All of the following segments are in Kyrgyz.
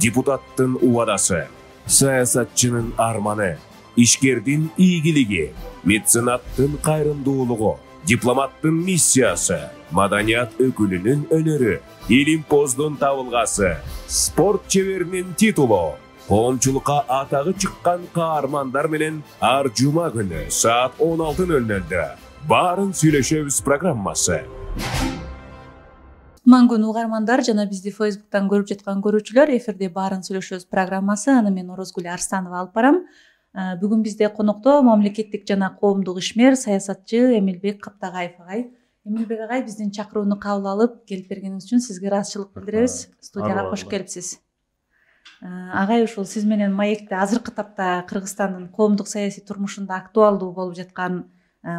депутаттын убадасы, саясатчынын арманы, ишкердин ийгилиги, меценаттын кайрымдуулугу, дипломаттын миссиясы, маданият өкүлүнүн өнөрү, илимпоздун табылгасы, спорт чеберинин титулу, коомчулукка атагы чыккан каармандар менен ар жума күнү саат 16:00 баарын сүйлөшөбүз программасы. Мангун угармандар жана бизди Facebook'тан көрүп жаткан көрүүчүлөр, эфирде баарын сүйлөшөбүз программасы. Аны мен Орозгүл Арстанова алып барам. Бүгүн бизде конокто мамлекеттик жана коомдук ишмер, саясатчы Эмилбек Каптагаев агай. Эмилбек агай, биздин чакырууну кабыл алып келип бергениңиз үчүн сизге ыраазычылык билдиребиз. Студияга кош келипсиз. Агай, ушул сиз менен маекте азыркы тапта Кыргызстандын коомдук саясий турмушунда актуалдуу болуп жаткан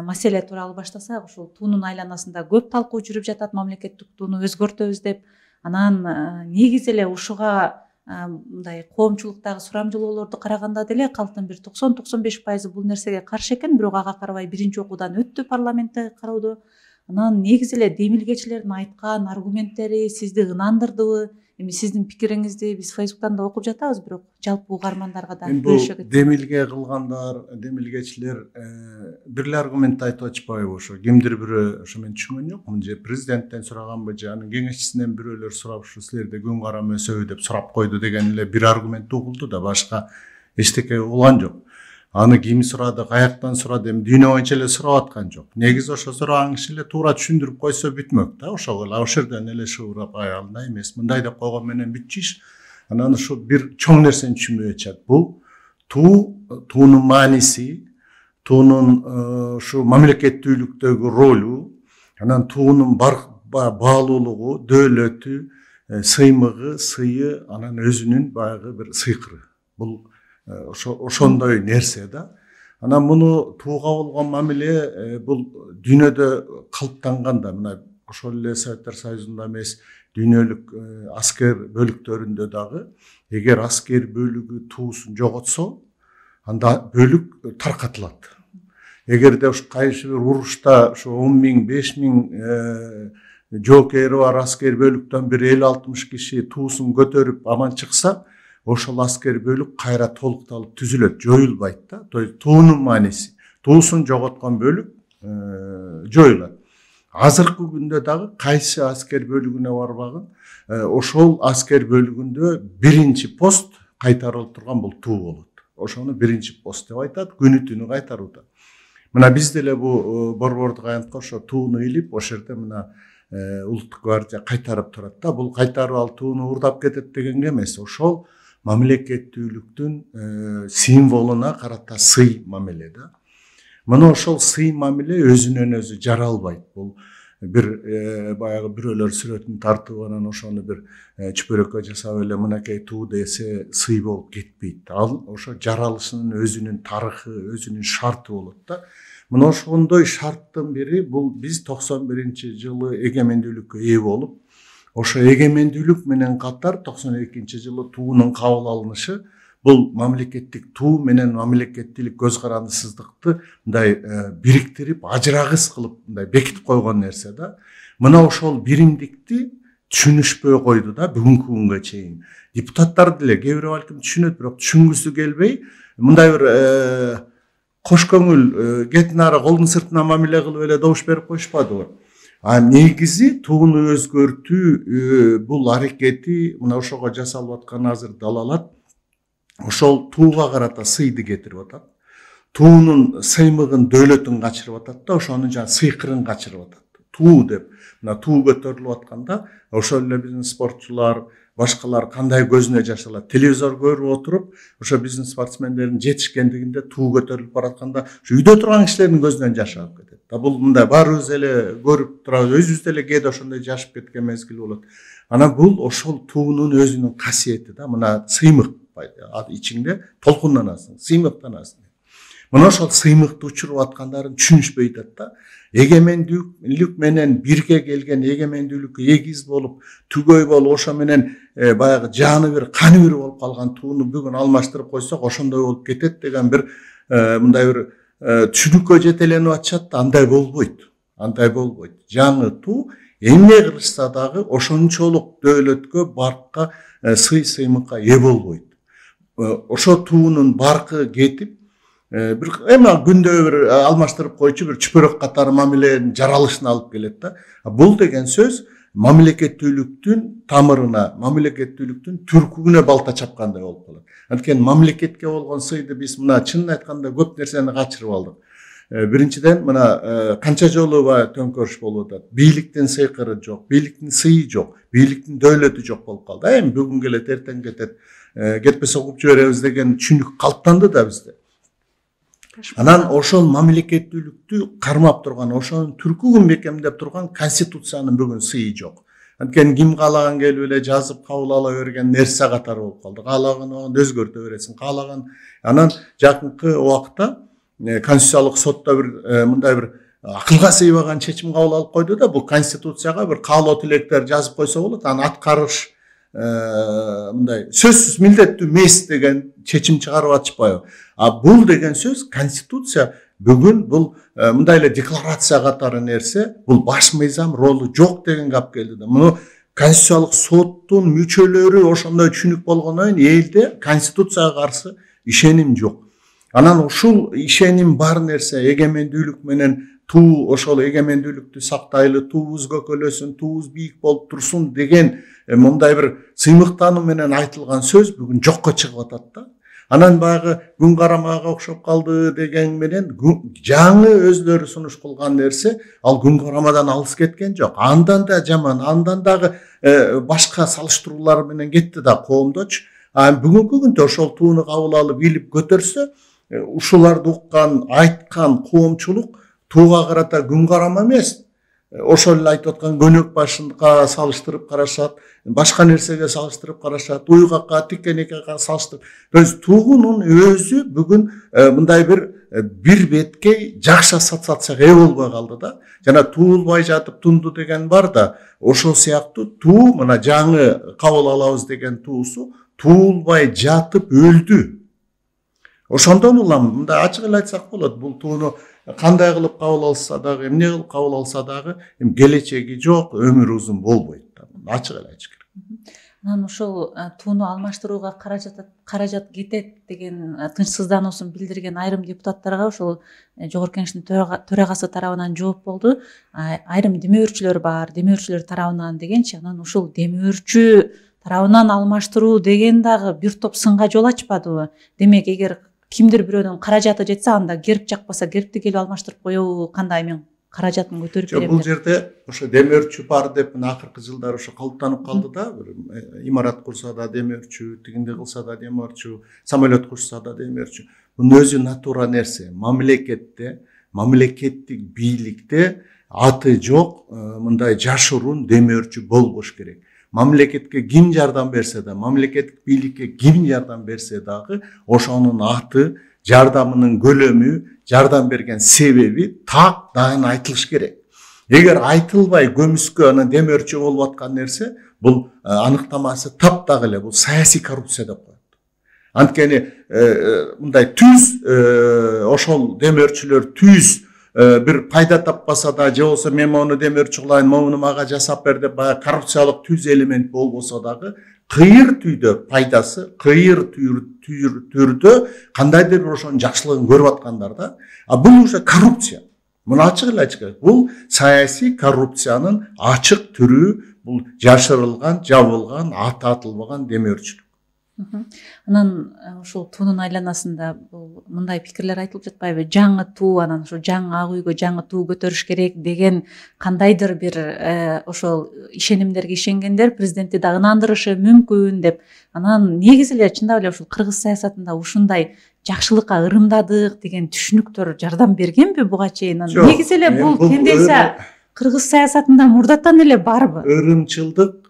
маселе тууралуу баштасак, ушул туунун айланасында көп талкуу жүрүп жатат, мамлекеттик тууну өзгөртөбүз деп. Анан негизи эле ушуга мындай коомчулуктагы сурамжылоолорду караганда деле калктын бир 90-95% бул нерсеге каршы экен, бирок ага карабай биринчи окуудан өттү парламентте кароодо. Анан негизи эле демилгечилердин айткан аргументтери сизди ынандырдыбы? Эми сиздин пикириңизди биз Facebook'тан да окуп жатабыз, бирок жалпы угармандарга да бөлүшө кетсек. Демилге кылгандар, демилгечилер бир эле аргумент айтып атышпайбы ошо? Кимдир бирөө ошо мен түшүнгөн жокмун, же президенттен сураганбы, же анын кеңешчисинен бирөөлөр сурап ушу силерде күн карам өсөбү деп сурап койду деген эле бир аргумент угулду да, башка эчтеке угулган жок. Аны ким сурады, каяктан сурады, эми дүйнө боюнча эле сурап аткан жок. Негизи ошо сураган киши эле туура түшүндүрүп койсо бүтмөк да, ошого эле ошол жерден эле шуурап андай эмес, мындай деп койгон менен бүтчү иш. Анан ушу бир чоң нерсени түшүнбөй атышат. Бул туунун мааниси, туунун ушу мамлекеттүүлүктөгү ролу, анан туунун баалуулугу, дөөлөтү, сыймыгы, сыйы, анан өзүнүн баягы бир сыйкыры. Бул ошондой нерсе да. Анан муну тууга болгон мамиле бул дүйнөдө калыптанган да. Мына ошол эле Советтер Союзунда эмес, дүйнөлүк аскер бөлүктөрүндө дагы эгер аскер бөлүгү туусун жоготсо, анда бөлүк таркатылат. Эгерде ушу кайсы бир урушта ушу 10 000, 5 000 жоокери бар аскер бөлүктөн бир 50-60 киши туусун көтөрүп аман чыкса, ошол аскер бөлүк кайра толукталып түзүлөт, жоюлбайт да. Туунун мааниси, туусун жоготкон бөлүк жоюлат. Азыркы күндө дагы кайсы аскер бөлүгүнө барбагын, ошол аскер бөлүгүндө биринчи пост кайтарылып турган бул туу болот. Ошону биринчи пост деп айтат, күнү түнү кайтарууда. Мына биз деле бу борбордук аянтка ошо тууну илип, ошол жерде мына улуттук гвардия кайтарып турат да. Бул кайтарып ал тууну уурдап кетет дегенге эмес, ошол мамлекеттүүлүктүн символуна карата сый мамиле да. Мына ошол сый мамиле өзүнөн өзү жаралбайт. Бул бир баягы бирөөлөр сүрөтүн тартып анан ошону бир чүпөрөккө жасап эле мынакей туу десе сый болуп кетпейт. Ал ошо жаралышынын өзүнүн тарыхы, өзүнүн шарты болот да. Мына ошондой шарттын бири бул биз 91-жылы эгемендүүлүккө ээ болуп, ошо эгемендүүлүк менен катар 92-жылы туунун кабыл алынышы бул мамлекеттик туу менен мамлекеттүүлүк көз карандысыздыкты мындай бириктирип, ажырагыс кылып мындай бекитип койгон нерсе да. Мына ошол биримдикти түшүнүшпөй койду да бүгүнкү күнгө чейин. Депутаттар деле кээ бирөө балким түшүнөт, бирок түшүнгүсү келбей мындай бир кош көңүл кетин ары колдун сыртына мамиле кылып эле добуш берип коюшпадыбы? Негизи тууну өзгөртүү бул аракети мына ошого жасалып аткан азыр далалат ошол тууга карата сыйды кетирип атат. Туунун сыймыгын, дөөлөтүн качырып атат да, ошонун жана сыйкырын качырып атат. Туу деп, мына туу көтөрүлүп атканда ошол эле биздин спортчулар, башкалар кандай көзүнө жаш алат. Телевизор көрүп отуруп, ошо биздин спортсмендердин жетишкендигинде туу көтөрүлүп баратканда, ошо үйдө турган кишилердин көзүнөн жаш агып кетет. Бул мындай баарыбыз эле көрүп турабыз, өзүбүз деле кээде ошондой жашып кеткен мезгил болот. Анан бул ошол туунун өзүнүн касиети да, мына сыймык ичиңде толкунданасың, сыймыктанасың. Мына ошол сыймыкты учуруп аткандарын түшүнүшпөй атат да. Эгемендүүлүк менен бирге келген, эгемендүүлүккө эгиз болуп, түгөй болуп, ошо менен баягы жаны бир, каны бир болуп калган тууну бүгүн алмаштырып койсок, ошондой болуп кетет деген бир мындай бир түшүнүккө жетеленип атышат да, андай болбойт. Жаңы туу эмне кылышса дагы ошончолук дөөлөткө, баркка, сый-сыймыкка ээ болбойт. Ошо туунун баркы кетип, бир эми күндө бир алмаштырып койчу бир чүпөрөк катары мамиленин жаралышына алып келет да. Бул деген сөз мамлекеттүүлүктүн тамырына, мамлекеттүүлүктүн түркүгүнө балта чапкандай болуп калат. Анткени мамлекетке болгон сыйды биз мына чынын айтканда көп нерсени качырып алдык. Биринчиден мына канча жолу төңкөрүш болуп атат. Бийликтин сыйкыры жок, бийликтин сыйы жок, бийликтин дөөлөтү жок болуп калды. Эми бүгүн келет, эртең кетет. Кетпесе угуп жиберебиз деген түшүнүк калыптанды да бизде. Анан ошол мамлекеттүүлүктү кармап турган, ошонун түркүгүн бекемдеп турган конституциянын бүгүн сыйы жок. Анткени ким каалаган келип эле жазып кабыл ала берген нерсе катары болуп калды. Каалаган өзгөртө бересиң, каалаган. Анан жакынкы убакта конституциялык сотто бир мындай бир акылга сыйбаган чечим кабыл алып койду да, бул конституцияга бир каалоо тилектер жазып койсо болот, аны аткарыш мындай сөзсүз милдеттүү эмес деген чечим чыгарып атышпайбы? Бул деген сөз конституция бүгүн бул мындай эле декларация катары нерсе, бул баш мыйзам ролу жок деген гап келди да. Муну конституциялык соттун мүчөлөрү ошондой түшүнүк болгондон кийин элде конституцияга каршы ишеним жок. Анан ушул ишеним бар нерсе эгемендүүлүк менен туу ошол эгемендүүлүктү сактайлы, туубуз көкөлөсүн, туубуз бийик болуп турсун деген мындай бир сыймыктануу менен айтылган сөз бүгүн жокко чыгып атат да. Анан баягы күн карамага окшоп калды деген менен жаңы өзлөрү сунуш кылган нерсе, ал күн карамадан алыс кеткен жок. Андан да жаман, андан дагы башка салыштыруулар менен кетти да коомдочу. Бүгүнкү күндө ошол тууну кабыл алып илип көтөрсө, ушуларды уккан, айткан коомчулук тууга карата күн карама эмес, ошол эле айтып аткан көнөк башынга салыштырып карашат, башка нерсеге салыштырып карашат, уйгакка, тикенекке салыштырып. То есть туунун өзү бүгүн мындай бир беткей жакшы ассоциацияга ээ болбой калды да. Жана туулбай жатып тунду деген бар да, ошол сыяктуу туу мына жаңы кабыл алабыз деген туусу туулбай жатып өлдү. Ошондон улам мындай ачык эле айтсак болот, бул тууну кандай кылып кабыл алса дагы, эмне кылып кабыл алса дагы, келечеги жок, өмүрү узун болбойт да. Ачык эле айтыш керек. Анан ошол тууну алмаштырууга каражат кетет деген тынчсыздануусун билдирген айрым депутаттарга ошол Жогорку Кеңештин төрагасы тарабынан жооп болду. Айрым демөөрчүлөр бар, демөөрчүлөр тарабынан дегенчи, анан ушул демөөрчү тарабынан алмаштыруу деген дагы бир топ сынга жол ачпадыбы? Демек, эгер кимдир бирөөнүн каражаты жетсе, анда герб жакпаса, гербти келип алмаштырып коебу, кандай мен каражатын көтөрүп берем деп. Бул жерде ошо демөөрчү бар деп акыркы жылдары ошо калыптанып калды да. Имарат курса да демөөрчү, тигинде кылса да демөөрчү, самолет курса да демөөрчү. Бунун өзү натура нерсе. Мамлекетте, мамлекеттик бийликте аты жок мындай жашыруун демөөрчү болбош керек. Мамлекетке ким жардам берсе да, мамлекеттик бийликке ким жардам берсе дагы, ошонун аты, жардамынын көлөмү, жардам берген себеби так дайын айтылыш керек. Эгер айтылбай көмүскө анан демөөрчү болуп аткан нерсе, бул аныктамасы таптак эле, бул саясий коррупция деп коет. Анткени мындай ошол демөөрчүлөр бир пайда таппаса да, же болсо мен мону демөөрчү кылайын, мону мага жасап бер деп коррупциялык элемент болбосо дагы, кыйыр түйдө пайдасы, кыйыр түрдө кандайдыр бир ошонун жакшылыгын көрүп аткандар да. Бул уже коррупция. Муну ачык эле айтыш керек. Бул саясий коррупциянын ачык түрү, бул жашырылган, жабылган, аты атылбаган демөөрчүлүк. Анан ушул туунун айланасында бул мындай пикирлер айтылып жатпайбы? Жаңы туу, анан ошо жаңы ак үйгө жаңы туу көтөрүш керек деген кандайдыр бир ошол ишенимдерге ишенгендер президентти да ынандырышы мүмкүн деп. Анан негизи эле чындап эле ушул кыргыз саясатында ушундай жакшылыкка ырымдадык деген түшүнүктөр жардам бергенби буга чейин? Негизи эле бул тенденция кыргыз саясатында мурдатан эле барбы? Ырымчылдык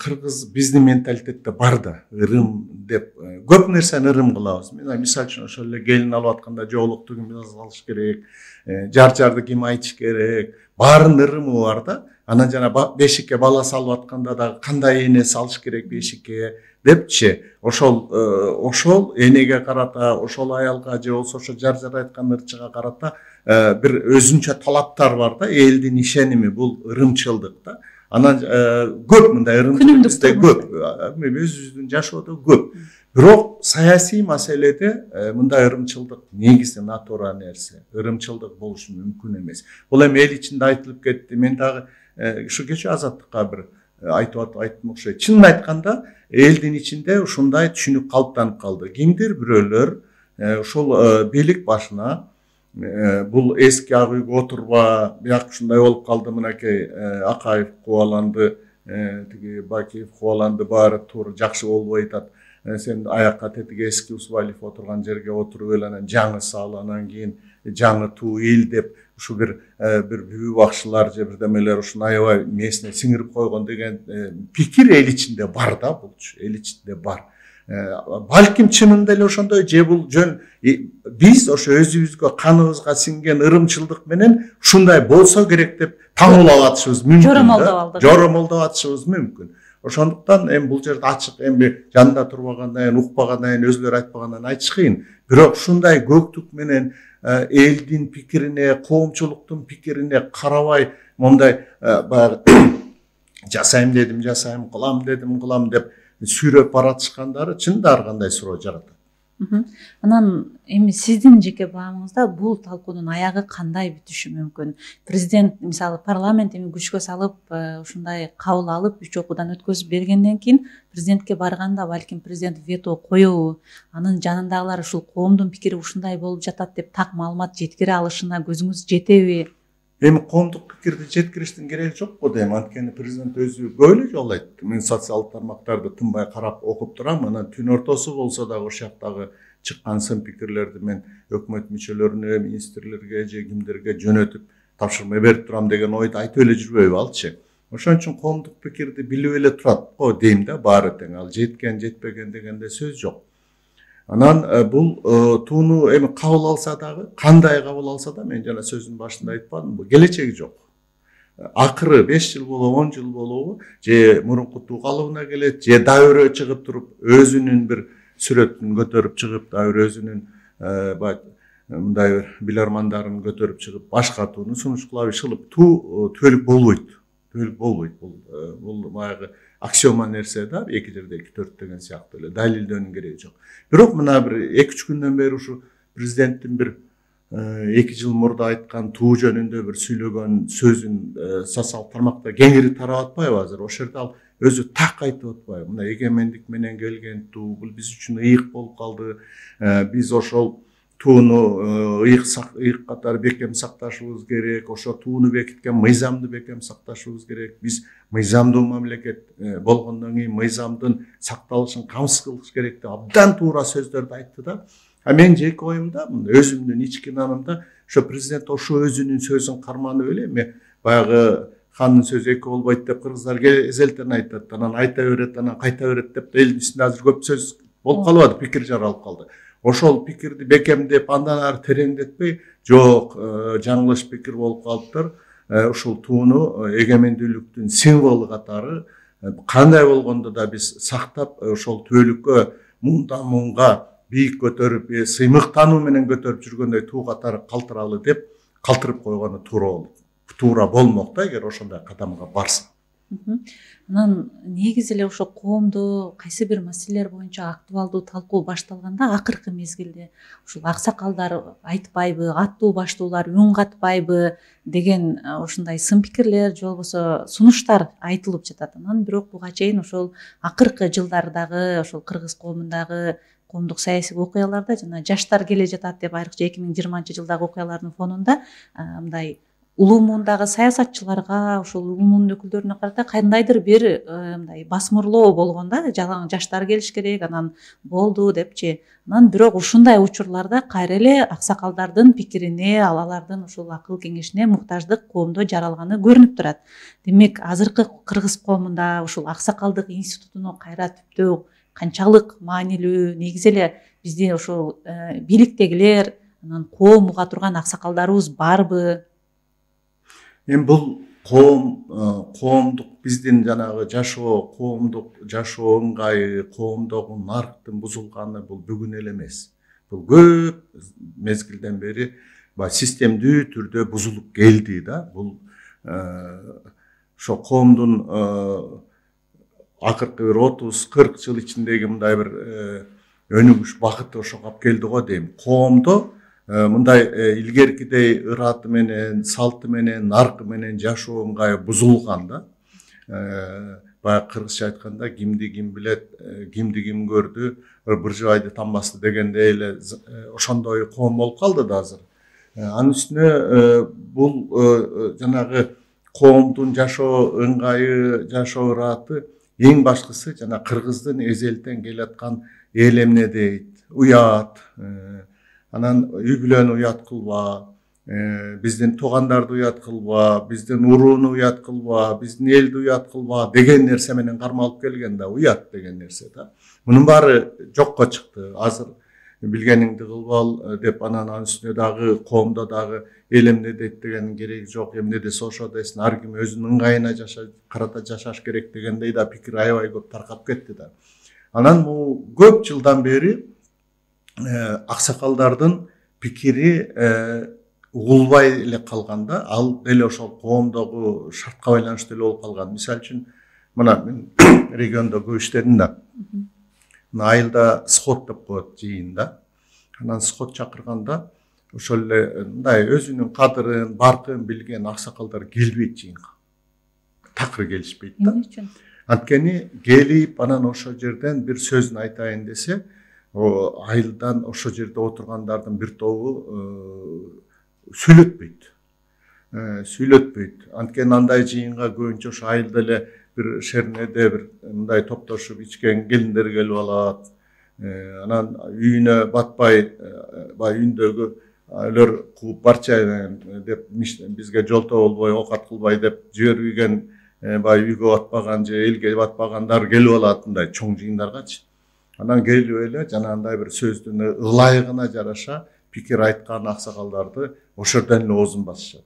кыргыз биздин менталитетте бар да. Ырым деп көп нерсени ырым кылабыз. Мисалы үчүн ошол эле келин алып атканда жоолукту ким алыш керек, жар-жарды ким айтыш керек, баарынын ырымы бар да. анан жана бешикке бала салып атканда дагы кандай эне салыш керек бешикке депчи, ошол энеге карата, ошол аялга же болбосо ошо жар айткан ырчыга карата бир өзүнчө талаптар бар да, элдин ишеними, бул ырымчылдык да. Анан көп мындай ырымчылык бизде көп, өзүбүздүн жашоодо көп. Бирок саясий маселеде мындай ырымчылдык негизи натура нерсе. Ырымчылдык болушу мүмкүн эмес. Бул эми эл ичинде айтылып кетти. Мен дагы ушу кечээ Азаттыкка бир айттым окшойт. Чынын айтканда элдин ичинде ушундай түшүнүк калыптанып калды. Кимдир бирөөлөр ушул бийлик башына бул эски ак үйгө отурба, бияк ушундай болуп калды, мынакей Акаев кубаланды, тиги Бакиев кубаланды, баары туура жакшы болбой атат. Сен аякка тетиги эски Усвалиев отурган жерге отуруп эл, анан жаңы сал, анан кийин жаңы туу эл деп ушу бир бүбү бакчылар же бирдемелер ушуну аябай мээсине сиңирип койгон деген пикир эл ичинде бар да, булчу эл ичинде бар. Балким чынында эле ошондой, же бул жөн биз ошо өзүбүзгө каныбызга сиңген ырымчылдык менен ушундай болсо керек деп таңуулап атышыбыз мүмкүн, жоромолдоп атышыбыз мүмкүн. Ошондуктан эми бул жерде ачык, эми жанында турбагандан кийин, укпагандан кийин, өзүлөр айтпагандан айтыш кыйын. Бирок ушундай көктүк менен элдин пикирине, коомчулуктун пикирине карабай, мондай баягы жасайм дедим, жасайм, кылам дедим, кылам деп сүйрөп баратышкандары чынында ар кандай суроо жаратат. Анан эми сиздин жеке баамыңызда бул талкуунун аягы кандай бүтүшү мүмкүн? Президент мисалы парламент эми күчкө салып ушундай кабыл алып 3 окуудан өткөзүп бергенден кийин президентке барганда балким президент вето коебу, анын жанындагылар ушул коомдун пикири ушундай болуп жатат деп так маалымат жеткире алышына көзүңүз жетеби? Эми коомдук пикирди жеткириштин кереги жок го дейм, анткени президент өзү көйлү жолу айтты. Мен социалдык тармактарды тынбай карап окуп турам, анан түн ортосу болсо дагы ошол жактагы чыккан сын пикирлерди мен өкмөт мүчөлөрүнө, министрлерге же кимдерге жөнөтүп тапшырма берип турам деген ойду айтып эле жүрбөйбү алчы. Ошон үчүн коомдук пикирди билип эле турат го дейм да, баары тең. Ал жеткен, жетпеген дегенде сөз жок. Анан бул тууну эми кабыл алса дагы, кандай кабыл алса да, мен жана сөзүнүн башында айтпадымбы, келечеги жок. Акыры 5 жыл болобу, 10 жыл болобу, же мурунку туу калыбына келет, же дайырөө чыгып туруп, өзүнүн бир сүрөтүн көтөрүп чыгып, дайыр өзүнүн мындай бир билармандарын көтөрүп чыгып, башка тууну сунуштуулап ишылып, туу түбөлүк болбойт. Түбөлүк болбойт. Бул баягы аксиома нерсе да, 2 жерде 2 4 деген сыяктуу эле далилдөөнүн кереги жок. Бирок мына бир 2-3 күндөн бери ушу президенттин бир 2 жыл мурда айткан туу жөнүндө бир сүйлөгөн сөзүн социалдык тармакта кеңири тарап атпайбы азыр? Ошол жерде ал өзү так айтып атпайбы? Мына эгемендик менен келген туу, бул биз үчүн ыйык болуп калды. Биз ошол тууну ыйык катары бекем сакташыбыз керек, ошо тууну бекиткен мыйзамды бекем сакташыбыз керек. Биз мыйзамдуу мамлекет болгондон кийин мыйзамдын сакталышын камсыз кылыш керек деп абдан туура сөздөрдү айтты да. Мен жеке оюмда, өзүмдүн ички нанымда ошо президент ошо өзүнүн сөзүн карманып эле, эми баягы хандын сөзү эки болбойт деп кыргыздар эзелтен айтат, анан айта берет, анан кайта берет деп элдин үстүндө азыр көп сөз болуп калбады, пикир жаралып калды. Ошол пикирди бекемдеп, андан ары тереңдетпей, жок, жаңылыш пикир болуп калыптыр. Ушул тууну эгемендүүлүктүн символу катары кандай болгондо да биз сактап, ошол түбөлүккө муңдан муңга бийик көтөрүп, сыймыктануу менен көтөрүп жүргөндөй туу катары калтыралы деп калтырып койгону туура болмок да, эгер ошондой кадамга барса. Анан негизи эле ошо коомдо кайсы бир маселелер боюнча актуалдуу талкуу башталганда акыркы мезгилде ушул аксакалдар айтпайбы, аттуу баштуулар үн катпайбы деген ушундай сын пикирлер же болбосо сунуштар айтылып жатат. Анан бирок буга чейин ошол акыркы жылдардагы ошол кыргыз коомундагы коомдук саясий окуяларда жана жаштар келе жатат деп, айрыкча 2020-жылдагы окуялардын фонунда мындай улуу муундагы саясатчыларга, ошол улуу муунун өкүлдөрүнө карата кандайдыр бир мындай басмырлоо болгон да, жалаң жаштар келиш керек, анан болду депчи. Анан бирок ушундай учурларда кайра эле аксакалдардын пикирине, алардын ушул акыл кеңешине муктаждык коомдо жаралганы көрүнүп турат. Демек, азыркы кыргыз коомунда ушул аксакалдык институтуну кайра түптөө канчалык маанилүү? Негизи эле бизде ошол бийликтегилер, анан коом уга турган аксакалдарыбыз барбы? Эми бул коомдук биздин жанагы жашоо, коомдук жашоо ыңгайы, коомдогу нарктын бузулганы бул бүгүн эле эмес. Бул көп мезгилден бери системдүү түрдө бузулуп келди да. Бул ошо коомдун акыркы бир 30-40 жыл ичиндеги мындай бир өнүгүш багыты ошого алып келди го дейм. Коомдо мындай илгеркидей ыраты менен, салты менен, наркы менен жашоо ыңгайы бузулган да. Баягы кыргызча айтканда кимди ким билет, кимди ким көрдү, бир жыбайды танбасты дегендей эле ошондой коом болуп калды да азыр. Анын үстүнө бул жанагы коомдун жашоо ыңгайы, жашоо ыраты эң башкысы жана кыргыздын эзелтен келаткан эл эмне дейт, уят, анан үй бүлөнү уят кылба, биздин туугандарды уят кылба, биздин урууну уят кылба, биздин элди уят кылба деген нерсе менен кармалып келген да, уят деген нерсе да. Мунун баары жокко чыкты. Азыр билгениңди кылбал деп анан үстүнө дагы коомдо дагы эл эмне дейт деген кереги жок, эмне десе ошо десин, ар ким өзүнүн ыңгайына карата жашаш керек дегендей да пикир аябай көп таркап кетти да. Анан бул көп жылдан бери аксакалдардын пикири угулбай эле калганда, ал деле ошол коомдогу шартка байланыштуу эле болуп калган. Мисалы үчүн мына мен региондо көп иштедим да. Айылда сход деп коет жыйын да. Анан сход чакырганда ошол эле мындай өзүнүн кадырын, баркын билген аксакалдар келбейт жыйынга. Такыр келишпейт да. Анткени келип анан ошол жерден бир сөзүн айтайын десе, айылдан ошол жерде отургандардын бир тобу сүйлөтпөйт. Анткени андай жыйынга көбүнчө ошо айылда эле бир шернеде бир мындай топтошуп ичкен келиндер келип алат. Анан үйүнө батпай, баягы үйүндөгү өлөр кууп барчайын деп бизге жолтоо болбой, оокат кылбай деп жибербеген, баягы үйгө батпаган же элге батпагандар келип алат мындай чоң жыйындаргачы. Анан келип эле жанагындай бир сөздүн ылайыгына жараша пикир айткан аксакалдарды ошол жерден эле оозун басышат.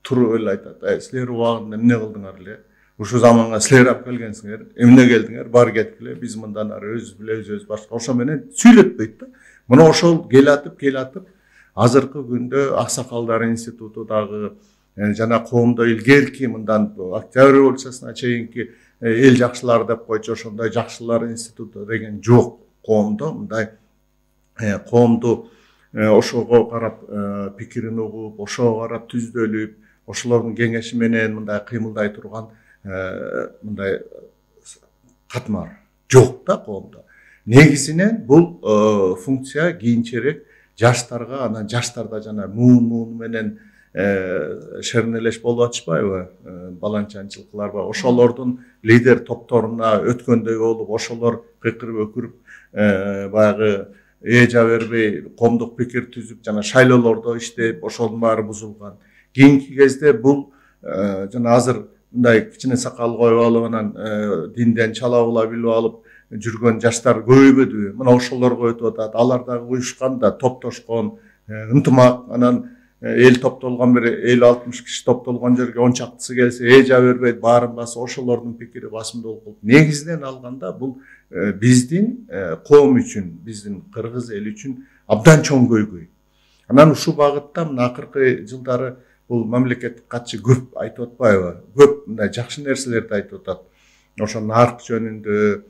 Туруп эле айтат: "Силер убагында эмне кылдыңар эле? Ушул заманга силер алып келгенсиңер, эмне келдиңер? Бар кеткиле, биз мындан ары өзүбүз билебиз башка." Ошо менен сүйлөтпөйт да. Мына ошол келатып азыркы күндө аксакалдар институту дагы жана коомдо илгерки мындан Октябрь революциясына чейинки эл жакшылар деп койчу, ошондой жакшылар институту деген жок коомдо. Мындай коомду ошого карап пикирин угуп, ошого карап түздөлүп, ошолордун кеңеши менен мындай кыймылдай турган мындай катмар жок да коомдо. Негизинен бул функция кийинчерээк жаштарга, анан жаштарда жана муун менен шернелеш болуп атышпайбы, баланчанчылыклар бар. Ошолордун лидер топторуна өткөндөй болуп, ошолор кыйкырып өкүрүп баягы эжа бербей коомдук пикир түзүп жана шайлоолордо иштеп, ошонун баары бузулган. Кийинки кезде бул жана азыр мындай кичине сакал коюп алып, анан динден чалабыла билип алып жүргөн жаштар көбөйбөдүбү? Мына ошолорго өтүп атат. Алар дагы уюшкан да, топтошкон, ынтымак, анан эл топтолгон бир 50-60 киши топтолгон жерге 10 чактысы келсе, эжа бербейт, баарын басып, ошолордун пикири басымдуу болуп. Негизинен алганда бул биздин коом үчүн, биздин кыргыз эл үчүн абдан чоң көйгөй. Анан ушул багытта мына акыркы жылдары бул мамлекеттик катчы көп айтып атпайбы? Көп мындай жакшы нерселерди айтып атат. Ошо нарк жөнүндө,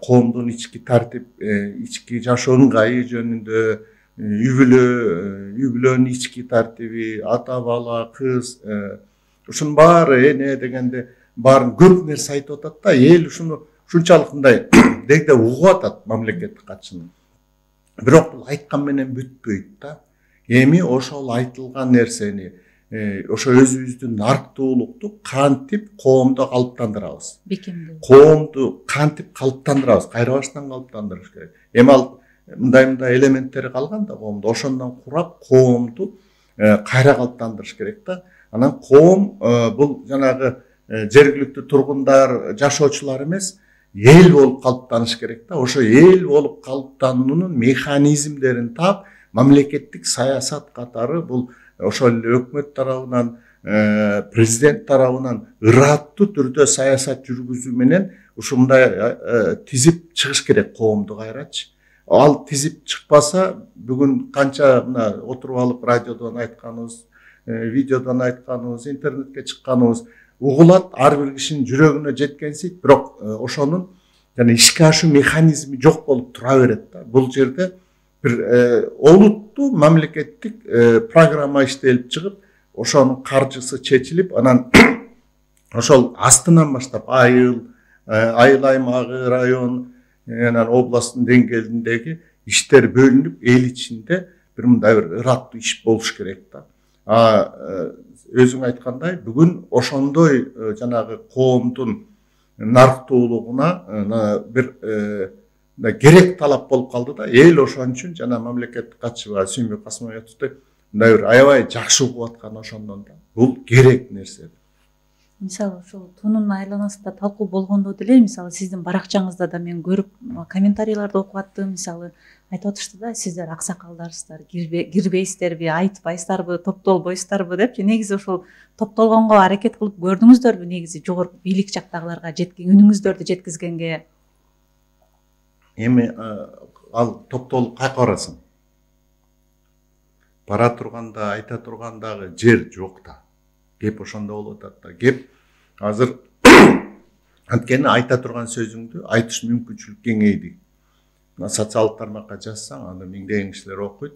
коомдун ички тартип, ички жашоо ыңгайы жөнүндө, үй бүлөнүн ички тартиби, ата бала, кыз, ушунун баары эне дегенде баарын көп нерсе айтып атат да. Эл ушуну ушунчалык мындай дегде угуп атат мамлекеттик катчыны. Бирок бул айткан менен бүтпөйт да. Эми ошол айтылган нерсени, ошо өзүбүздүн нарктуулукту кантип коомдо калыптандырабыз? Бекемдүү. Коомду кантип калыптандырабыз? Кайра баштан калыптандырыш керек. Эми ал мындай элементтери калган да коомдо. Ошондон курап коомду кайра калыптандырыш керек да. Анан коом бул жанагы жергиликтүү тургундар, жашоочулар эмес, эл болуп калыптаныш керек да. Ошо эл болуп калыптануунун механизмдерин таап, мамлекеттик саясат катары бул ошол эле өкмөт тарабынан, президент тарабынан ыраттуу түрдө саясат жүргүзүү менен ушундай тизип чыгыш керек коомду кайрачы. Ал тизип чыкпаса, бүгүн канча мына отуруп алып радиодон айтканыбыз, видеодон айтканыбыз, интернетке чыкканыбыз угулат, ар бир кишинин жүрөгүнө жеткенсийт, бирок ошонун жана ишке ашуу механизми жок болуп тура берет да. Бул жерде бир олуттуу мамлекеттик программа иштелип чыгып, ошонун каржысы чечилип, анан ошол астынан баштап айыл аймагы, район, анан областтын деңгээлиндеги иштер бөлүнүп, эл ичинде бир мындай бир ыраттуу иш болуш керек да. Өзүң айткандай, бүгүн ошондой жанагы коомдун нарктуулугуна бир керек талап болуп калды да. Эл ошон үчүн жана мамлекеттик катчы Сүйүнбөк Касымбаевди мындай бир аябай жакшы угуп аткан ошондон да. Бул керек нерсе. Мисалы ошол тунун айланасында талкуу болгондо деле, мисалы сиздин баракчаңызда да мен көрүп комментарийлерди окуп аттым. Мисалы айтып атышты да, сиздер аксакалдарсыздар, кирбейсиздерби, айтпайсыздарбы, топтолбойсуздарбы депчи. Негизи ошол топтолгонго аракет кылып көрдүңүздөрбү? Негизи жогорку бийлик жактагыларга үнүңүздөрдү жеткизгенге? Эми ал топтолуп кайка барасың? Бара турганда, айта тургандагы жер жок да. Кеп ошондо болуп атат да. Кеп азыр анткени айта турган сөзүңдү айтыш мүмкүнчүлүк кеңейди. Социалдык тармакка жазсаң, аны миңдеген кишилер окуйт.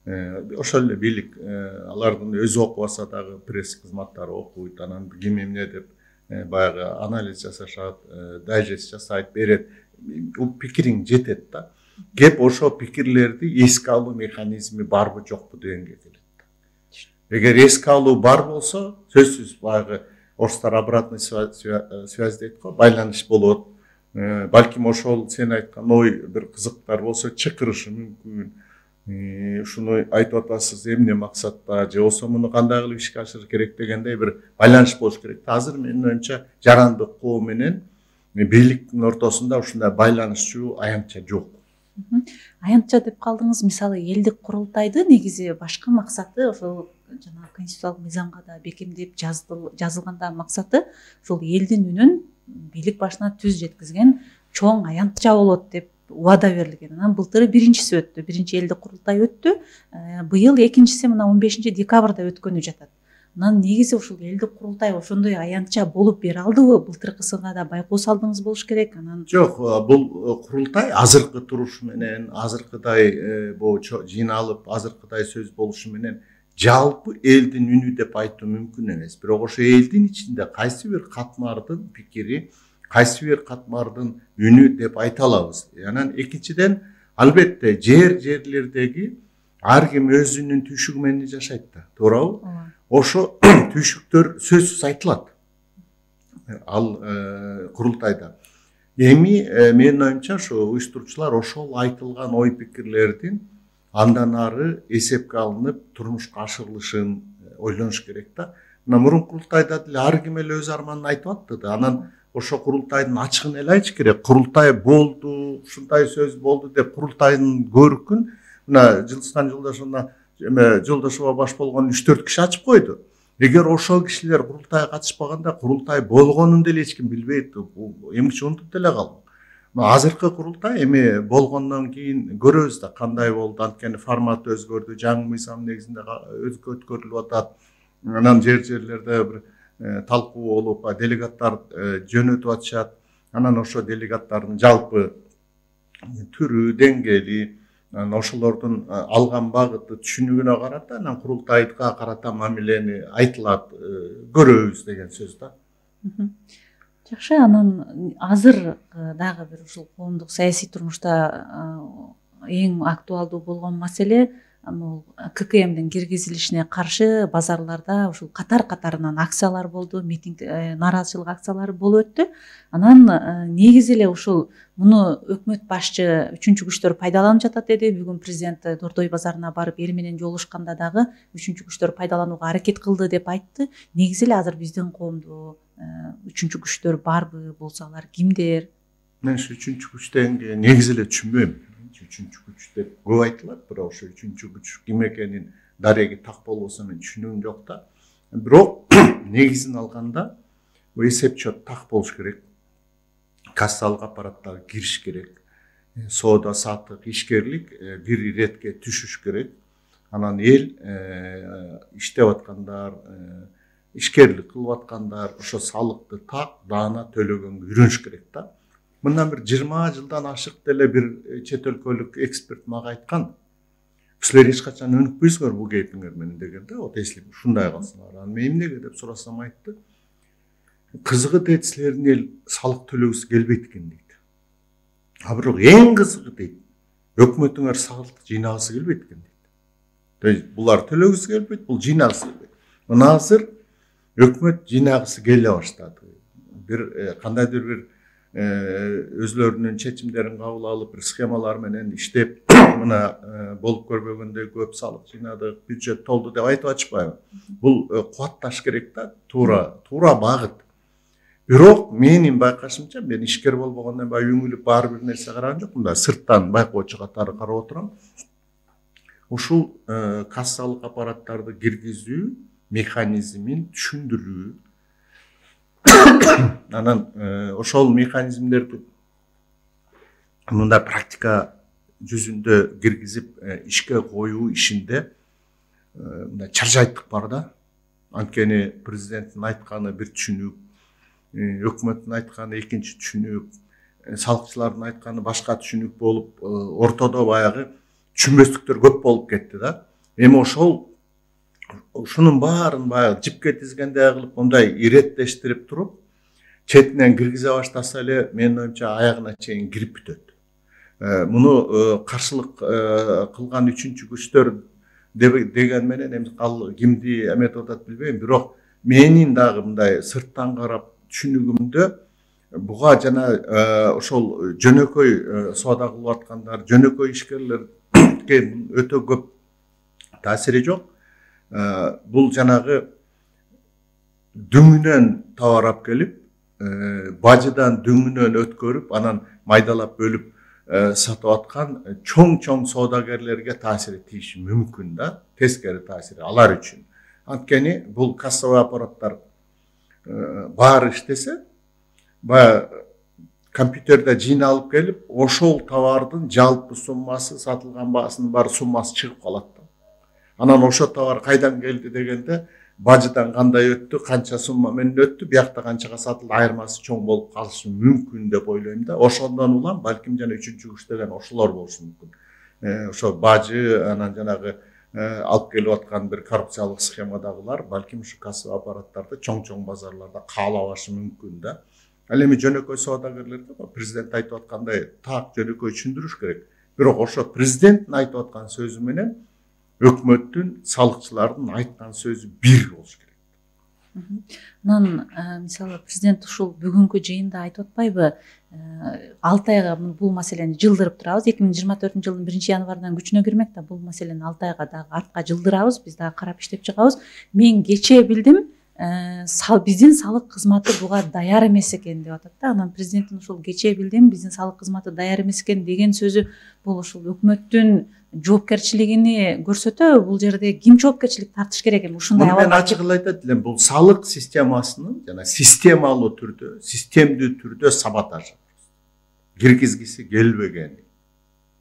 Ошол эле бийлик алардын өзү окубаса дагы пресс кызматтары окуйт, анан ким эмне деп баягы анализ жасашат, дайжест жасайт, берет. Пикириң жетет да. Кеп ошо пикирлерди эске алуу механизми барбы жокпу дегенге келет. Эгер эске алуу бар болсо, сөзсүз баягы орустар обратный связь дейт го, байланыш болот. Балким ошол сен айткан ой бир кызыктар болсо чакырышы мүмкүн. Ушуну айтып атасыз эмне максатта, же болсо муну кандай кылып ишке ашырыш керек дегендей бир байланыш болуш керек. Азыр менин оюмча жарандык коом менен бийликтин ортосунда ушундай байланышчу аянтча жок. Аянтча деп калдыңыз. Мисалы элдик курултайды негизи башкы максаты ошол жана конституциялык мыйзамга да бекемдеп жазылганда максаты ошол элдин үнүн бийлик башына түз жеткизген чоң аянтча болот деп убада берилген. Анан былтыры биринчиси өттү. Биринчи элдик курултай өттү. Быйыл экинчиси мына 15 декабрда өткөнү жатат. Анан негизи ушул элдик курултай ошондой аянтча болуп бере алдыбы? Былтыркысына да байкоо салдыңыз болуш керек. Анан жок, бул курултай азыркы турушу менен, азыркыдай жыйналып, азыркыдай сөз болушу менен жалпы элдин үнү деп айтуу мүмкүн эмес. Бирок ошо элдин ичинде кайсы бир катмардын пикири, кайсы бир катмардын үнү деп айта алабыз. Анан экинчиден, албетте жерлердеги ар ким өзүнүн түйшүгү менен жашайт да, туурабы? Ошо түйшүктөр сөзсүз айтылат. Ал курултайда. Эми менин оюмча ошо уюштуруучулар ошол айтылган ой пикирлердин андан ары эсепке алынып турмушка ашырылышын ойлонуш керек да. Мына мурунку курултайда деле ар ким эле өз арманын айтып атты да. Анан ошо курултайдын ачыгын эле айтыш керек. Курултай болду, ушундай сөз болду деп курултайдын көркүн мына Жылдызхан Жолдошова баш болгон 3-4 киши ачып койду. Эгер ошол кишилер курултайга катышпаганда курултай болгонун деле эч ким билбейт. Эмгиче унутуп деле калды. Азыркы курултай эми болгондон кийин көрөбүз да кандай болду. Анткени формат өзгөрдү, жаңы мыйзам негизинде өткөрүлүп атат. Анан жерлерде бир талкуу болуп, делегаттар жөнөтүп атышат. Анан ошо делегаттардын жалпы түрү, деңгээли, ошолордун алган багыты, түшүнүгүнө карата анан курултайга карата мамилени айтылат, көрөбүз деген сөз да. Жакшы, анан азыр дагы бир ушул коомдук саясий турмушта эң актуалдуу болгон маселе бул ККМдин киргизилишине каршы базарларда ушул катарынан акциялар болду, митинг, нааразычылык акциялары болуп өттү. Анан негизи эле ушул муну өкмөт башчы үчүнчү күчтөр пайдаланып жатат деди. Бүгүн президент Дордой базарына барып эл менен жолугушканда дагы үчүнчү күчтөр пайдаланууга аракет кылды деп айтты. Негизи эле азыр биздин коомдо үчүнчү күчтөр барбы, болсо алар кимдер? Мен ушу үчүнчү күч дегенге негизи эле түшүнбөйм. Үчүнчү күч деп көп айтылат, бирок ошо үчүнчү күч ким экенин дареги так болбосо мен түшүнүгүм жок да. Бирок негизин алганда бул эсеп чот так болуш керек. Кассалык аппараттар кириш керек. Соода саттык, ишкерлик бир иретке түшүш керек. Анан эл иштеп аткандар, ишкерлик кылып аткандар ошо салыкты так даана төлөгөнгө үйрөнүш керек да. Мындан бир 20 жылдан ашык деле бир чет өлкөлүк эксперт мага айткан. Силер эч качан өнүкпөйсүңөр бул кейпиңер менен деген да. Вот если ушундай калсаңар, анан мен эмнеге деп сурасам айтты. Кызыгы дейт, силердин эл салык төлөгүсү келбейт экен дейт. А бирок эң кызыгы дейт, өкмөтүңөр салык жыйнагысы келбейт экен дейт. То есть булар төлөгүсү келбейт, бул жыйнагысы келбейт. Мына азыр өкмөт жыйнагысы келе баштады. Бир кандайдыр бир өзлөрүнүн чечимдерин кабыл алып, бир схемалар менен иштеп, мына болуп көрбөгөндөй көп салык жыйнадык, бюджет толду деп айтып атышпайбы? Бул кубатташ керек да, туура багыт. Бирок менин байкашымча, мен ишкер болбогондон баягы үңүлүп баары бир нерсе караган жокмун да, сырттан байкоочу катары карап отурам. Ушул кассалык аппараттарды киргизүү механизмин түшүндүрүү. Анан ошол механизмдерди мындай практика жүзүндө киргизип ишке коюу ишинде мындай чаржайттык бар да. Анткени президенттин айтканы бир түшүнүк, өкмөттүн айтканы экинчи түшүнүк, салыкчылардын айтканы башка түшүнүк болуп, ортодо баягы түшүнбөстүктөр көп болуп кетти да. Эми ушунун баарын баягы жипке тизгендей кылып мындай иреттештирип туруп, четинен киргизе баштаса эле менин оюмча аягына чейин кирип бүтөт. Муну каршылык кылган үчүнчү күчтөр деген менен эми кимди эметип атат билбейм, бирок менин дагы мындай сырттан карап түшүнүгүмдө буга жана ошол жөнөкөй соода кылып аткандар, жөнөкөй ишкерлерге өтө көп таасири жок. Бул жанагы дүңүнөн товар алып келип, бажыдан дүңүнөн өткөрүп, анан майдалап бөлүп сатып аткан чоң соодагерлерге таасири тийиши мүмкүн да, тескери таасири алар үчүн. Анткени бул кассовый аппараттар баары иштесе, баягы компьютерде жыйналып келип, ошол товардын жалпы суммасы, сатылган баасынын бар суммасы чыгып калат да. Анан ошо товар кайдан келди дегенде, бажыдан кандай өттү, канча сумма менен өттү, биякта канчага сатылды, айырмасы чоң болуп калышы мүмкүн деп ойлойм да. Ошондон улам балким жана үчүнчү күч деген ошолор болушу мүмкүн. Ошо бажы, анан жанагы алып келип аткан бир коррупциялык схемадагылар балким ушу кассовый аппараттарды чоң базарларда каалабашы мүмкүн да. Ал эми жөнөкөй соодагерлерде президент айтып аткандай так жөнөкөй түшүндүрүш керек. Бирок ошо президенттин айтып аткан сөзү менен өкмөттүн, салыкчылардын айткан сөзү бир болуш керек. Анан мисалы президент ушул бүгүнкү жыйында айтып атпайбы, 6 айга бул маселени жылдырып турабыз. 2024 жылдын 1-январынан күчүнө кирмек да, бул маселени 6 айга дагы артка жылдырабыз, биз дагы карап иштеп чыгабыз. Мен кечээ билдим, биздин салык кызматы буга даяр эмес экен деп атат да. Анан президенттин ушул кечээ билдим, биздин салык кызматы даяр эмес экен деген сөзү бул ушул өкмөттүн жоопкерчилигини көрсөтөбү? Бул жерде ким жоопкерчилик тартыш керек эми ушундай абалга? Мен ачык эле айтат элем, бул салык системасынын жана системалуу түрдө, системдүү түрдө саботаж киргизгиси келбеген.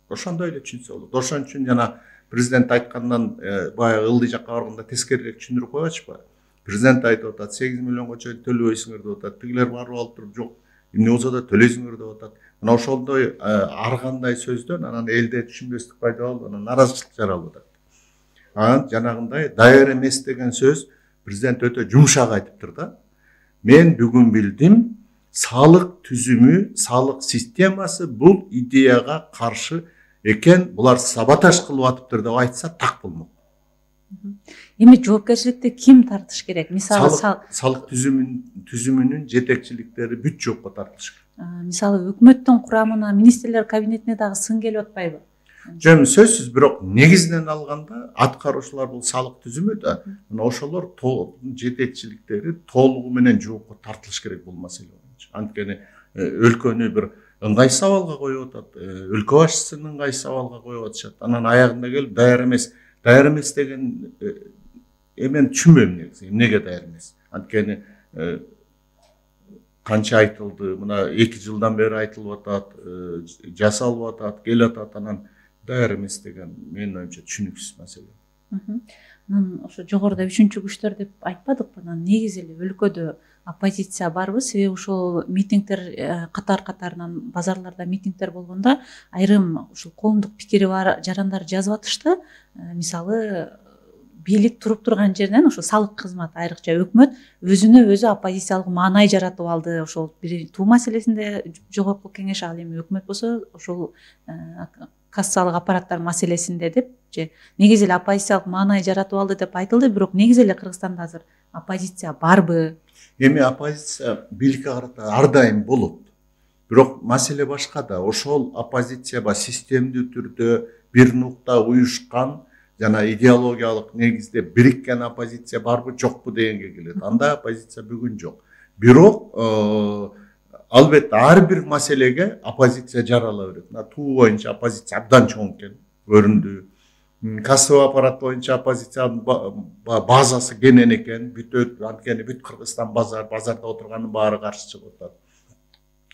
Ошондой эле түшүнсө болот. Ошон үчүн жана президент айткандан баягы ылдый жакка барганда тескерирээк түшүндүрүп койбочпу? Президент айтып атат, 8 миллионго чейин төлөбөйсүңөр деп атат. Тигилер барып алып туруп, жок, эмне болсо да төлөйсүңөр деп атат. Мына ошондой ар кандай сөздөн анан элде түшүнбөстүк пайда болуп, анан наразычылык жаралып атат. Анан жанагындай даяр эмес деген сөз президент өтө жумшак айтыптыр да. Мен бүгүн билдим, салык түзүмү, салык системасы бул идеяга каршы экен, булар саботаж кылып атыптыр деп айтса так болмок. Эми жоопкерчиликти ким тартыш керек? Мисалы салык түзүмүнүн жетекчиликтери бүт жоопко тартылыш керек. Мисалы өкмөттүн курамына, министрлер кабинетине дагы сын келип атпайбы? Жөн сөзсүз, бирок негизинен алганда аткаруучулар бул салык түзүмү да, мына ошолор жетекчиликтери толугу менен жоопко тартылыш керек бул маселе боюнча. Анткени өлкөнү бир ыңгайсыз абалга коюп атат, өлкө башчысын ыңгайсыз абалга коюп атышат. Анан аягында келип даяр эмес деген мен түшүнбөйм негизи эмнеге даяр эмес. Анткени канча айтылды, мына 2 жылдан бери айтылып атат, жасалып атат, келип атат, анан даяр эмес деген менин оюмча түшүнүксүз маселе. Анан ошо жогоруда 3 күчтөр деп айтпадыкпы? Анан негизи эле өлкөдө оппозиция барбы? Себеби ошол митингдер катар-катарынан базарларда митингдер болгондо айрым ушул коомдук пикири бар жарандар жазып атышты. Мисалы бийлик туруп турган жеринен ошо салык кызматы, айрыкча өкмөт өзүнө өзү оппозициялык маанай жаратып алды. Ошол бир туу маселесинде жогорку кеңеш, ал эми өкмөт болсо ошол кассалык аппараттар маселесинде деп же негизи эле оппозициялык маанай жаратып алды деп айтылды. Бирок негизи эле Кыргызстанда азыр оппозиция барбы? Эми оппозиция бийликке карата ар дайым болот. Бирок маселе башкада. Ошол оппозиция системдүү түрдө бир нукта уюшкан жана идеологиялык негизде бириккен оппозиция барбы, жокпу дегенге келет. Андай оппозиция бүгүн жок. Бирок албетте ар бир маселеге оппозиция жарала берет. Туу боюнча оппозиция абдан чоң экен, көрүндү. Кассалык аппарат боюнча оппозициянын базасы кенен экен, бүтөт, анткени бүт Кыргызстан базарда отурганын баары каршы чыгып атат.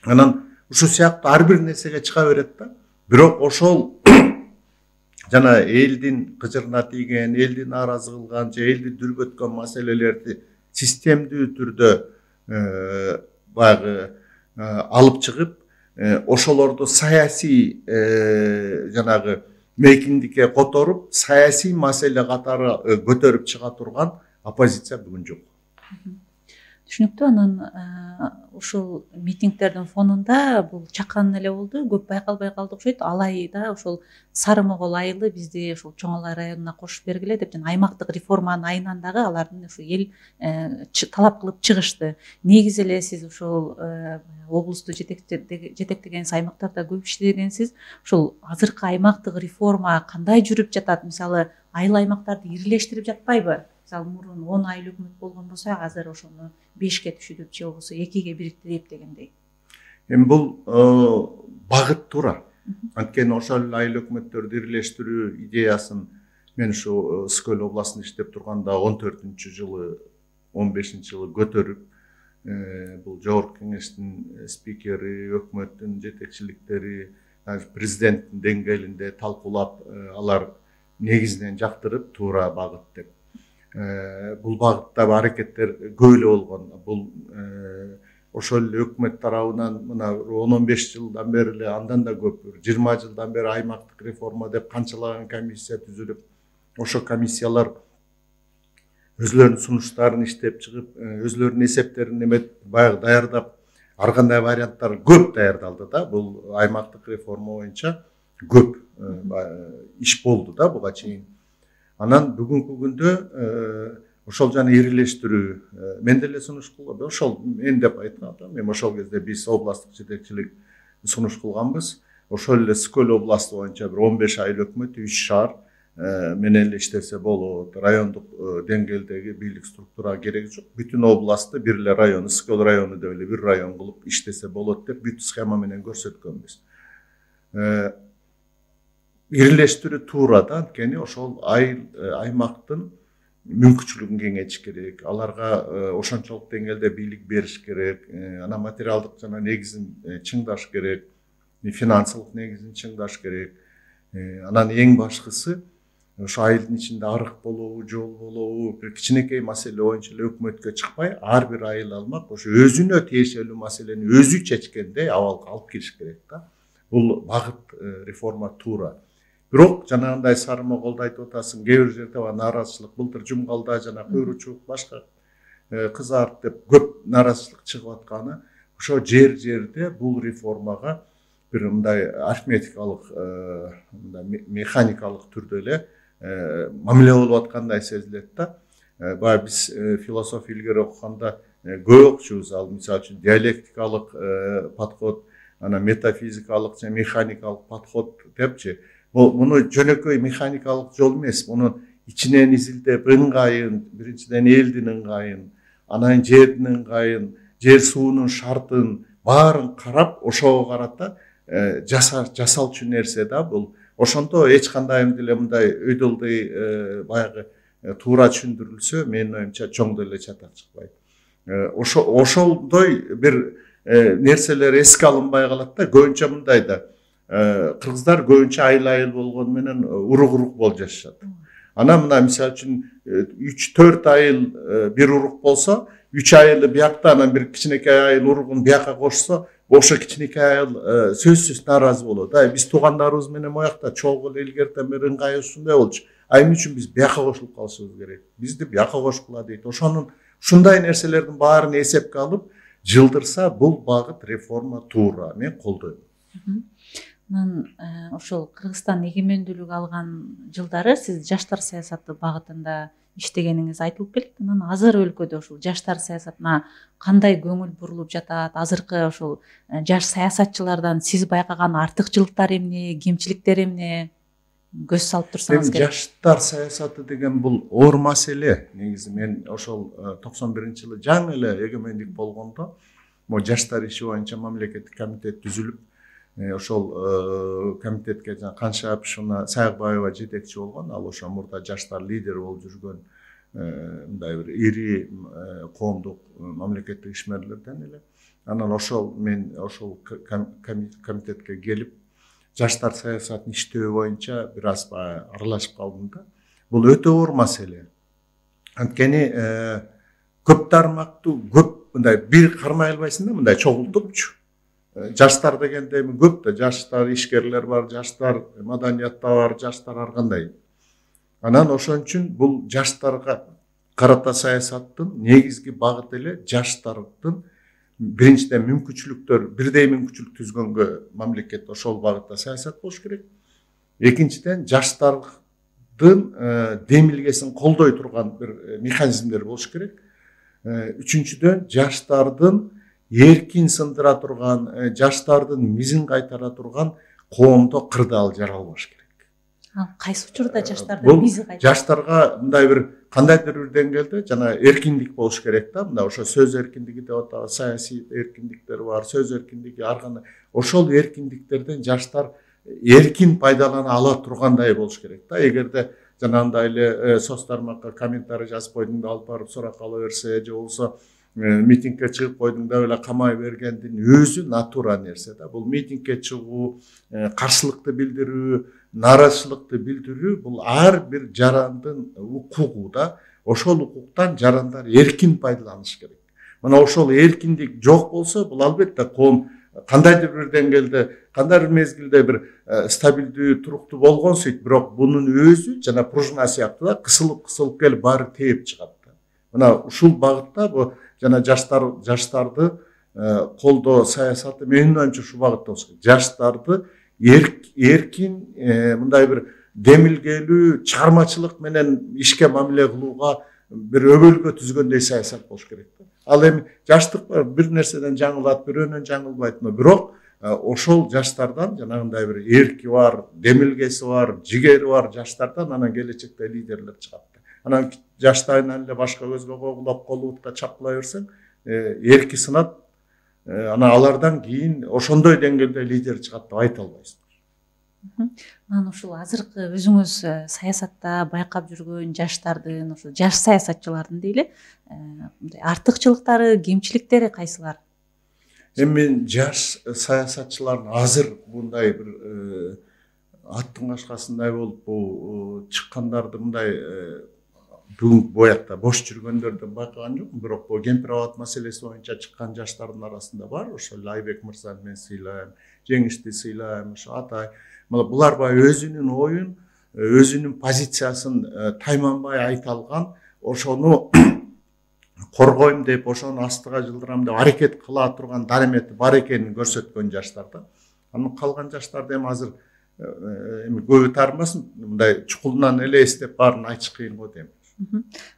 Анан ушул сыяктуу ар бир нерсеге чыга берет да. Бирок ошол жана элдин кыжырына тийген, элди нааразы кылган же элди дүрбөткөн маселелерди системдүү түрдө баягы алып чыгып, ошолорду саясий жанагы мейкиндикке которуп, саясий маселе катары көтөрүп чыга турган оппозиция бүгүн жок. Түшүнүктүү. Анан ушул митингдердин фонунда бул чакан эле болду, көп байкалбай калды окшойт. Алайда ошол Сары Могол айылы бизди ошол Чоң Алай районуна кошуп бергиле деп жана аймактык реформанын айынан дагы алардын ушу эл талап кылып чыгышты. Негизи эле сиз ушул облусту жетектегенсиз, аймактарда көп иштегенсиз. Ушул азыркы аймактык реформа кандай жүрүп жатат? Мисалы, айыл аймактарды ирилештирип жатпайбы? Мисалы, мурун 10 айыл өкмөт болгон болсо, азыр ошону 5ке түшүрүп же болбосо 2ге бириктирип дегендей. Эми бул багыт туура. Анткени ошол айыл өкмөттөрдү ирилештирүү идеясын мен ушу Скөл областында иштеп турганда 14-жылы, 15-жылы көтөрүп, бул жогорку кеңештин спикери, өкмөттүн жетекчиликтери, президенттин деңгээлинде талкуулап, алар негизинен жактырып, туура багыт деп. Бул багытта аракеттер көп эле болгон. Бул ошол эле өкмөт тарабынан мына 10-15 жылдан бери эле, андан да көп, 20 жылдан бери аймактык реформа деп канчалаган комиссия түзүлүп, ошо комиссиялар өзлөрүнүн сунуштарын иштеп чыгып, өзлөрүнүн эсептерин баягы даярдап, ар кандай варианттар көп даярдалды да. Бул аймактык реформа боюнча көп иш болду да буга чейин. Анан бүгүнкү күндө ошол жана ирилештирүү мен деле сунуш кылгам. Ошол мен деп айткан, мен ошол кезде биз областтык жетекчилик сунуш кылганбыз. Ошол эле Скөл областы боюнча бир 15 айыл өкмөт 3 шаар менен эле иштесе болот. Райондук деңгээлдеги бийлик структура кереги жок. Бүтүн областты бир эле район, Скөл району деп эле бир район кылып иштесе болот деп бүт схема менен көрсөткөнбүз. Ирилештирүү туура да, анткени ошол аймактын мүмкүнчүлүгүн кеңейтиш керек. Аларга ошончолук деңгээлде бийлик бериш керек. Анан материалдык жана негизин чыңдаш керек, финансылык негизин чыңдаш керек. Анан эң башкысы ошо айылдын ичинде арык болобу, жол болобу, бир кичинекей маселе боюнча эле өкмөткө чыкпай, ар бир айыл алмак ошо өзүнө тиешелүү маселени өзү чечкендей абалга алып келиш керек да. Бул багыт реформа туура. Бирок жанагындай Сары Моголду айтып атасың, кээ бир жерде нааразычылык, былтыр Жумгалда жана Куйручук, башка Кызарт деп көп нааразычылык чыгып атканы, ошо жерде бул реформага бир мындай арифметикалык, механикалык түрдө эле мамиле болуп аткандай сезилет да. Баягы биз философия илгери окуганда көп окучубуз, ал мисалы үчүн диалектикалык подход, анан метафизикалык же механикалык подход депчи. Муну жөнөкөй механикалык жол эмес, муну ичинен изилдеп, ыңгайын, биринчиден элдин ыңгайын, анан жердин ыңгайын, жер суунун шартын баарын карап, ошого карата жасалчу нерсе да бул. Ошондо эч кандай деле мындай өйдөлдөй баягы туура түшүндүрүлсө менин оюмча чоң деле чатак чыкпайт. Ошолдой бир нерселер эске алынбай калат да. Көбүнчө мындай да, кыргыздар көбүнчө айыл болгону менен урук болуп жашашат. Ана мына мисалы үчүн 3-4 айыл бир урук болсо, 3 айылы биякта, анан бир кичинекей айыл уругун бияка кошсо, ошо кичинекей айыл сөзсүз нааразы болот. Биз туугандарыбыз менен моякта чогуу эле илгертен бери ыңгай ушундай болчу. Эмне үчүн биз бияка кошулуп калышыбыз керек? Бизди бияка кошкула дейт. Ушундай нерселердин баарын эсепке алып жылдырса, бул багыт реформа туура. Мен колдойм. Анан ошол Кыргызстан эгемендүүлүк алган жылдары сиз жаштар саясаты багытында иштегениңиз айтылып келет. Анан азыр өлкөдө ушул жаштар саясатына кандай көңүл бурулуп жатат? Азыркы ошол жаш саясатчылардан сиз байкаган артыкчылыктар эмне, кемчиликтер эмне? Көз салып турсаңыз керек. Жаштар саясаты деген бул оор маселе. Негизи мен ошол 91-жылы жаңы эле эгемендик болгондо, могу жаштар иши боюнча мамлекеттик комитет түзүлүп, ошол комитетке Канша Апишевна Саякбаева жетекчи болгон. Ал ошо мурда жаштар лидери болуп жүргөн мындай бир ири коомдук мамлекеттик ишмерлерден эле. Анан мен ошол комитетке келип, жаштар саясатын иштөө боюнча бир аз аралашып калдым да. Бул өтө оор маселе. Анткени көп тармактуу, көп мындай бир кармай албайсың да, мындай чогултупчу. Жаштар дегенде эми көп да, жаштар ишкерлер бар, жаштар маданиятта бар, жаштар ар кандай. Анан ошон үчүн бул жаштарга карата саясаттын негизги багыты эле жаштардын биринчиден мүмкүнчүлүктөр, бирдей мүмкүнчүлүк түзгөнгө мамлекет ошол багытта саясат болуш керек. Экинчиден жаштардын демилгесин колдой турган бир механизмдер болуш керек. Үчүнчүдөн жаштардын эркин сындыра турган, жаштардын мизин кайтара турган коомдо кырдаал жаралбаш керек. Ал кайсы учурда жаштардын мизи кайтат? Жаштарга мындай бир кандайдыр бир деңгээлде жана эркиндик болуш керек да. Мына ошо сөз эркиндиги деп атабыз, саясий эркиндиктер бар, сөз эркиндиги, ар кандай. Ошол эркиндиктерден жаштар эркин пайдалана ала тургандай болуш керек да. Эгерде жанагындай эле соц тармакка комментарий жазып койдуң да алып барып сурак ала берсе, же болбосо митингке чыгып койдуң да эле камай бергендин өзү натура нерсе да. Бул митингке чыгуу, каршылыкты билдирүү, нааразычылыкты билдирүү бул ар бир жарандын укугу да. Ошол укуктан жарандар эркин пайдаланыш керек. Мына ошол эркиндик жок болсо, бул албетте коом кандайдыр бир деңгээлде, кандайдыр мезгилде бир стабилдүү, туруктуу болгон сөйт, бирок бунун өзү жана пружина сыяктуу да кысылып келип баары тээп чыгат. Мына ушул багытта бу жана жаштарды колдоо саясаты менин оюмча ушул багытта болуш керек. Жаштарды эркин мындай бир демилгелүү, чыгармачылык менен ишке мамиле кылууга бир өбөлгө түзгөндөй саясат болуш керек. Ал эми жаштык бир нерседен жаңылат, бирөөнөн жаңылбайт, бирок ошол жаштардан жанагындай бир эрки бар, демилгеси бар, жигери бар жаштардан анан келечекте лидерлер чыгат. Анан жаштайынан эле башка көзгө когулап, колубутка чапкылай берсең, эрки сынат, анан алардан кийин ошондой деңгээлде лидер чыгат деп айта албайсың. Анан ушул азыркы өзүңүз саясатта байкап жүргөн жаштардын, ошо жаш саясатчылардын дейли, артыкчылыктары, кемчиликтери кайсылар? Эми мен жаш саясатчылардын азыр мындай бир аттын кашкасындай болуп чыккандарды мындай бүгүнкү боякта бош жүргөндөрдөн байкаган жокмун, бирок бул кемпир абад маселеси боюнча чыккан жаштардын арасында бар. Ошо Айбек мырзаны мен сыйлайм, Жеңишти сыйлайм, ошо Атай. Булар баягы өзүнүн оюн, өзүнүн позициясын тайманбай айта алган, ошону коргойм деп, ошону астыга жылдырам деп аракет кыла турган даремети бар экенин көрсөткөн жаштар да. Анан калган жаштарды эми азыр эми көбү таарынбасын, мындай чукулунан эле эстеп баарын айтыш кыйын го дейм.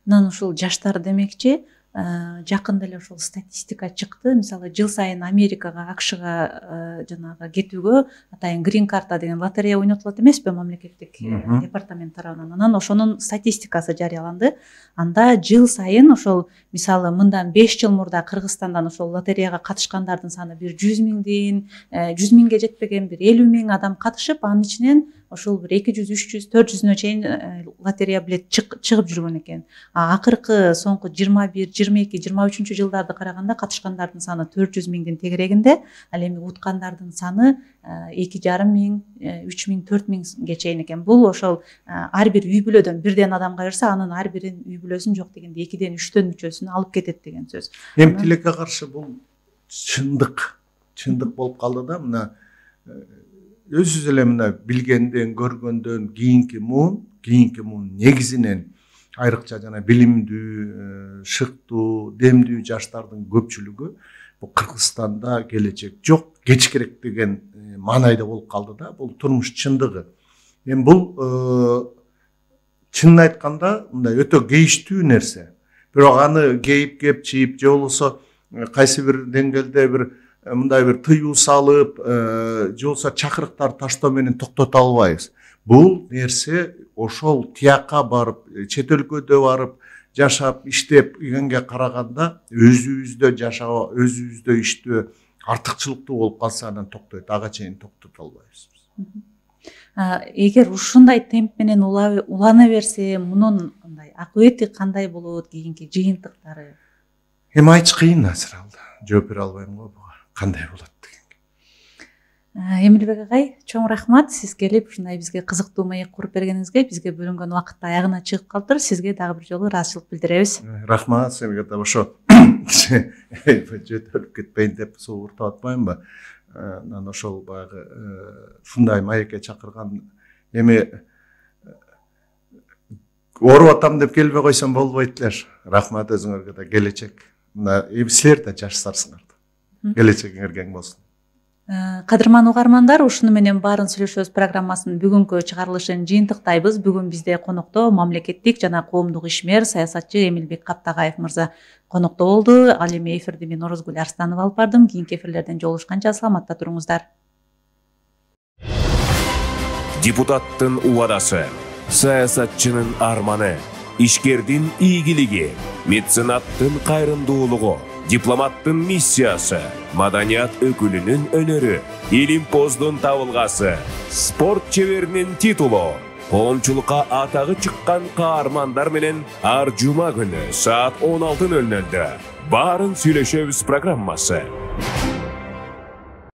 Анан ушул жаштар демекчи, жакында эле ошол статистика чыкты. Мисалы, жыл сайын Америкага, АКШга жанагы кетүүгө атайын грин карта деген лотерея ойнотулат эмеспи мамлекеттик департамент тарабынан. Анан ошонун статистикасы жарыяланды. Анда жыл сайын ошол мисалы мындан 5 жыл мурда Кыргызстандан ошол лотереяга катышкандардын саны бир 100 миңден 100 миңге жетпеген бир 50 миң адам катышып, анын ичинен ошол бир 200, 300, 400-нө чейин лотерея билет чыгып жүргөн экен. Акыркы соңку 21, 22, 23 жылдарды караганда катышкандардын саны 400 миңдин тегерегинде, ал эми уткандардын саны 2,5 миң, 3 миң, 4 миңге чейин экен. Бул ошол ар бир үй бүлөдөн бирден адамга берсе, анын ар биринин үй бүлөсүн жок дегенде 2ден 3төн мүчөсүн алып кетет деген сөз. Эми тилекке каршы бул чындык болуп калды да. Мына өзүбүз эле мына билгенден, көргөндөн кийинки муун негизинен айрыкча жана билимдүү, шыктуу, демдүү жаштардын көпчүлүгү бул Кыргызстанда келечек жок, кеч керек деген маанайда болуп калды да. Бул турмуш чындыгы. Эми бул чынын айтканда мындай өтө кейиштүү нерсе. Бирок аны кейип кепчип же болбосо кайсы бир деңгээлде бир мындай бир тыюу салып, же болбосо чакырыктар таштоо менен токтото албайбыз. Бул нерсе ошол тиякка барып, чет өлкөдө барып жашап, иштеп ийгенге караганда өзүбүздө жашоо, өзүбүздө иштөө артыкчылыктуу болуп калса анан токтойт, ага чейин токтото албайбыз. Эгер ушундай темп менен улана берсе, мунун мындай акыбети кандай болот, кийинки жыйынтыктары? Эми айтыш кыйын азыр алда. Жооп бере албайм го буга. Кандай болот деген. Эмилбек агай, чоң рахмат сиз келип ушундай бизге кызыктуу маек куруп бергениңизге. Бизге бөлүнгөн убакыт аягына чыгып калыптыр. Сизге дагы бир жолу ыраазычылык билдиребиз. Рахмат, сизге да ошо жөтөлүп кетпейин деп суууртуп атпаймынбы? Анан ошол баягы ушундай маекке чакырган эми ооруп атам деп келбей койсом болбойт эле. Рахмат өзүңөргө да, келечек. Мына силер да жашсарсыңар. Келечегиңер кең болсун. Кадырман угармандар, ушуну менен баарын сүйлөшөбүз программасынын бүгүнкү чыгарылышын жыйынтыктайбыз. Бүгүн бизде конокто мамлекеттик жана коомдук ишмер, саясатчы Эмилбек Каптагаев мырза конокто болду. Ал эми эфирди мен Орозгүл Арстанова алып бардым. Кийинки эфирлерден жолугушканча саламатта туруңуздар. Депутаттын убадасы, саясатчынын арманы, ишкердин ийгилиги, меценаттын кайрымдуулугу, дипломаттын миссиясы, маданият өкүлүнүн өнөрү, илимпоздун табылгасы, спорт чеберинин титулу, коомчулукка атагы чыккан каармандар менен ар жума күнү саат 16:00 баарын сүйлөшөбүз программасы.